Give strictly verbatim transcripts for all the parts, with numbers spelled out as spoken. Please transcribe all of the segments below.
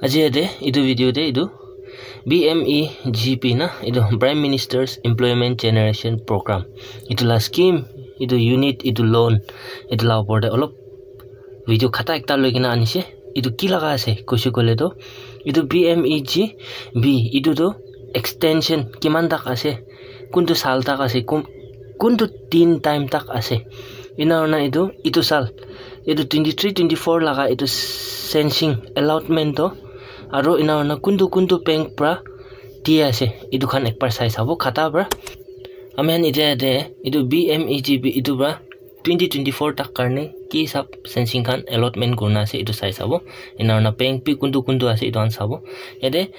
Aji yate etu video te etu B M E G P na, etu Prime Minister's Employment Generation Program, etu la scheme, etu unit, etu loan, etu la upor te olop video khata ekta loi kena anise. Etu ki laga ase koise koile toh, etu B M E G P, etu toh extension kiman tak ase, kuntu sal tak ase, kun kuntu tin time tak ase, ena hoina etu etu sal, etu twenty three twenty four laga etu sensing allotment toh, aro ena hoina kuntu kuntu bank pra di ase, etu khan ekbar sai sabo khata pra. Ami khan etia yate etu B M E G P etu pra twenty twenty four tak karne ki hisab sensing khan allotment kurina ase, etu sai sabo. Ena hoina bank bi kuntu kuntu ase, etu khan sabo. Yate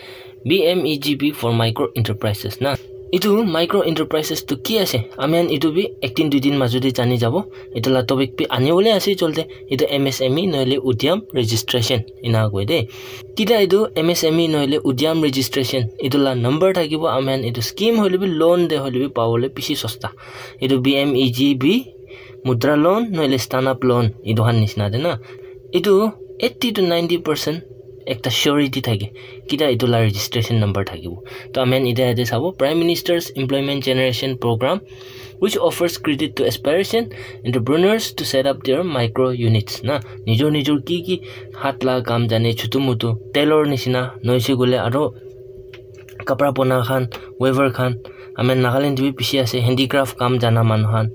B M E G P for micro enterprises na. Etu micro enterprises tu ki ase? Ami khan etu bi ek din dui din majo te jani jabo. Etu la topic bi ani bole ase cholte. Etu M S M E nohole udyam registration ena koi de. Kita etu M S M E nohole udyam registration, etu la number thakibo, ami khan etu scheme hoile bi, loan de hoile bi pabole bishi sosta. Etu B M E G P, mudra loan nohole stand up loan, etu khan nishina de na. Etu eighty to ninety percent ekta surety thake, kita etu la registration number thakibo. To ami khan etia yate sabo, Prime Minister's Employment Generation Program, which offers credit to aspiration entrepreneurs to set up their micro units na. Nijor nijor ki ki hat la kam jane, chutu mutu, tailor nishina, noise koile aro kapra bona khan, weaver khan, ami khan Nagaland te bi bishi ase, handicraft kam jana manu khan,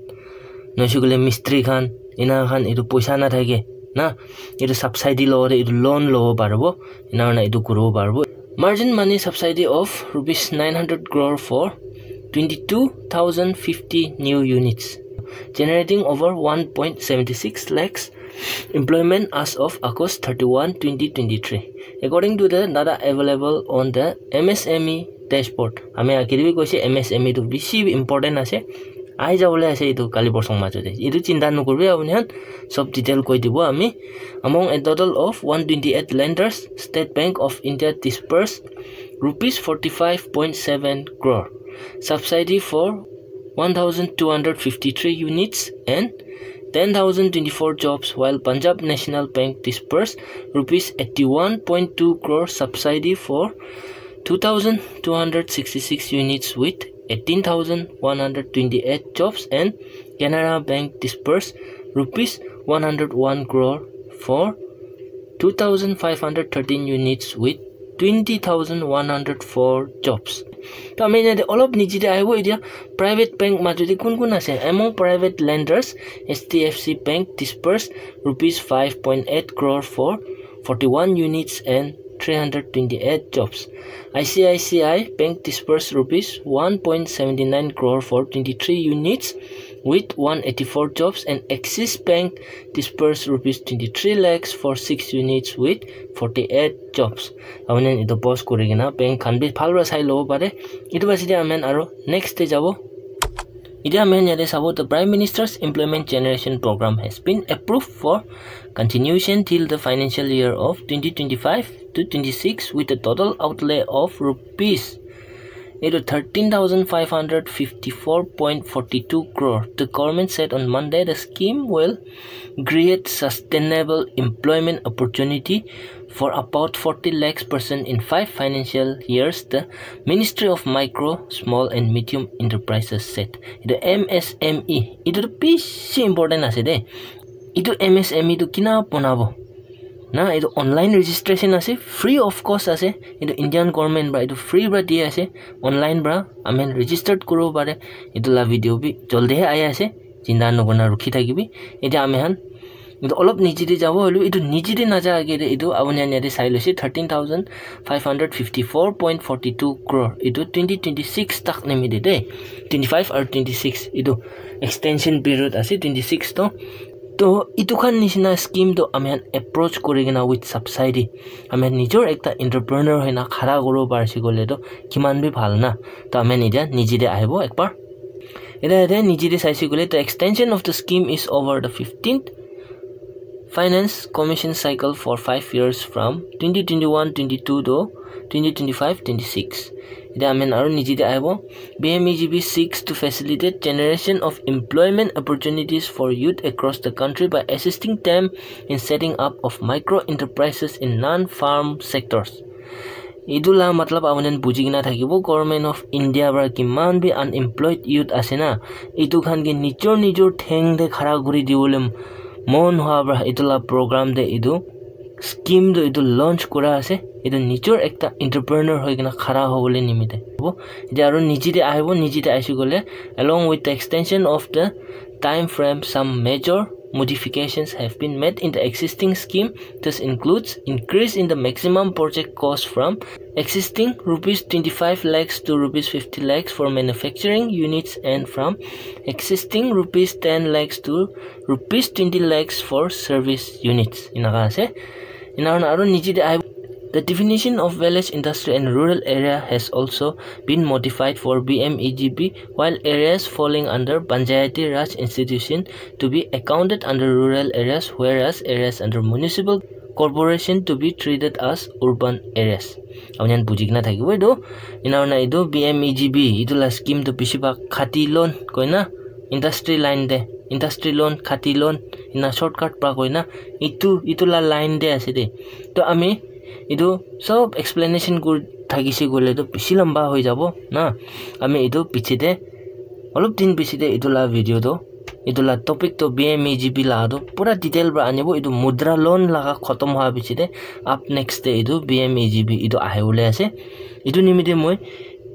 noise koile mistri khan, ena khan etu poisa na thake na, etu subsidy lobo de etu loan lobo paribo, ena hoina etu kuribo paribo. Margin money subsidy of rupees nine hundred crore for twenty two thousand fifty new units, generating over one point seventy six lakhs employment as of August thirty one, twenty twenty three, according to the data available on the M S M E dashboard. Ami agete bi koise, M S M E tu bishi important ase, ahi jabole ase etu kali porsong majo te. Etu chinta nokoribi apuni khan, sob detail koi dibo ami. Among a total of one twenty eight lenders, State Bank of India disbursed rupees forty five point seven crore subsidy for one thousand two hundred fifty three units and ten thousand twenty four jobs, while Punjab National Bank disbursed rupees eighty one point two crore subsidy for two thousand two hundred sixty six units with eighteen thousand one hundred twenty eight jobs, and Canara Bank disbursed rupees one hundred one crore for two thousand five hundred thirteen units with twenty thousand one hundred four jobs. To ami yate olop niche te ahibo etia, private bank majo te kun kun ase? Among private lenders, H D F C Bank disbursed rupees five point eight crore for forty one units and three hundred twenty eight jobs. I C I C I Bank disbursed rupees one point seventy nine crore for twenty three units with one eighty four jobs, and Axis Bank disbursed rupees twenty three lakhs for six units with forty eight jobs. Ami khan etu pause kori kena bank khan bi bhal para sai lobo pare. Etu basi te ami khan aro next te jabo. Etia ami khan yate sabo, the Prime Minister's Employment Generation Program has been approved for continuation till the financial year of twenty twenty five to twenty six, with a total outlay of rupees, etu thirteen thousand five hundred fifty four point forty two crore. The government said on Monday the scheme will create sustainable employment opportunity for about forty lakhs person in five financial years, the Ministry of Micro, Small and Medium Enterprises said. Etu M S M E, etu tu bishi important ase de. Etu M S M E tu kina bonabo? Na, etu online registration ase, free of cost ase. Etu Indian government para etu free para di ase, online para ami khan registered kuribo pare. Etu la video bi jaldi he ahi ase, chinta nakurina rukhi thakibi. Etia ami khan etu olop niche te jabo, hoilebi etu niche te naja age te etu apuni khan yate sai loise, thirteen thousand five hundred fifty four point forty two crore, etu twenty twenty six tak nimite de, twenty five aru twenty six, etu extension period ase twenty six to. To etu khan nishina scheme to ami khan approach kori kena with subsidy, ami khan nijor ekta entrepreneur hoina khara kuribo parise koile to kiman bi bhal na. To ami khan etia niche te ahibo ekbar. Etia yate niche te saise koile, the extension of the scheme is over the fifteenth Finance Commission cycle for five years from twenty twenty one twenty two to twenty twenty five twenty six. Etia ami khan aru niche te ahibo. B M E G P seeks to facilitate generation of employment opportunities for youth across the country by assisting them in setting up of micro enterprises in non-farm sectors. Etu la matlab apuni khan buji kena thakibo, Government of India para kiman bi unemployed youth ase na, etu khan ke nijor nijor theng te khara kuri dibole mon hoa para etu la program te etu scheme tu etu launch kura ase. Etu nijor ekta entrepreneur hoi kena khara hobole nimite. Etia aru niche te ahibo, niche te ahi kole, along with the extension of the time frame, some major modifications have been made in the existing scheme. This includes increase in the maximum project cost from existing rupees twenty-five lakhs to rupees fifty lakhs for manufacturing units and from existing rupees ten lakhs to rupees twenty lakhs for service units. Enaka ase. Ena hoina aru niche te ahi, the definition of village, industry and rural area has also been modified for B M E G P, while areas falling under Panchayati Raj institution to be accounted under rural areas, whereas areas under municipal corporation to be treated as urban areas. Apuni khan buji kena thakibo etu. Ena hoina etu B M E G P, etu la scheme tu bishi bhag khati loan koina, industry line te, industry loan, khati loan, ena shortcut pa koina, etu, etu la line te ase de. To ami etu sob explanation kuri thakise koile to bishi lamba hoi jabo na. Ami etu piche te, olop din piche te etu la video to, etu la topic to B M E G P la to pura detail para anibo. Etu mudra loan laga khotom hoa piche te, up next te etu B M E G P etu ahi bole ase. Etu nimite moi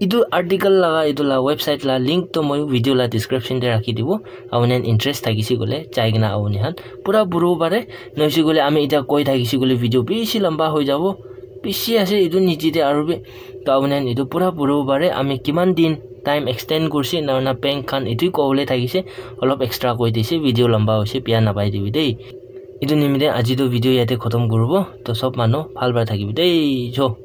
etu article laga etu la website la link to moi video la description te rakhi dibo. Apuni khan interest thakise koile jai kena apuni khan pura puribo pare. Nohoi se koile ami etia koi thakise koile video bishi lamba hoi jabo. Bishi ase etu niche te aru bi. To apuni khan etu pura puribo pare. Ami kiman din time extend kurse, ena hoina bank khan etu kobole thakise, olop extra koi dise, video lamba hoise, biya napai dibi de. Etu nimite aji to video yate khotom kuribo. To sob manu bhal para thakibi de. Jo.